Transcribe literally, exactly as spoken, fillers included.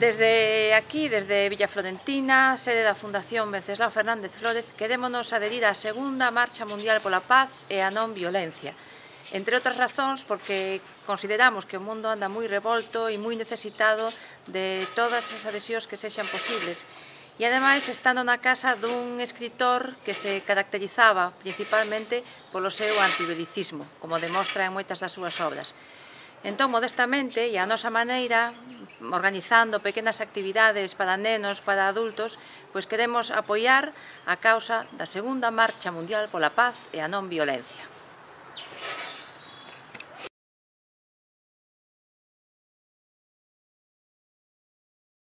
Desde aquí, desde Villa Florentina, sede da Fundación Venceslao Fernández Flórez, querémonos adherir á segunda Marcha Mundial pola Paz e a non violencia. Entre outras razóns, porque consideramos que o mundo anda moi revolto e moi necesitado de todas as adhesións que sexan posibles. E, ademais, estando na casa dun escritor que se caracterizaba principalmente polo seu antibelicismo, como demostra en moitas das súas obras. Entón, modestamente, e a nosa maneira, organizando pequenas actividades para nenos, para adultos, pois queremos apoiar a causa da segunda Marcha Mundial pola Paz e a non violencia.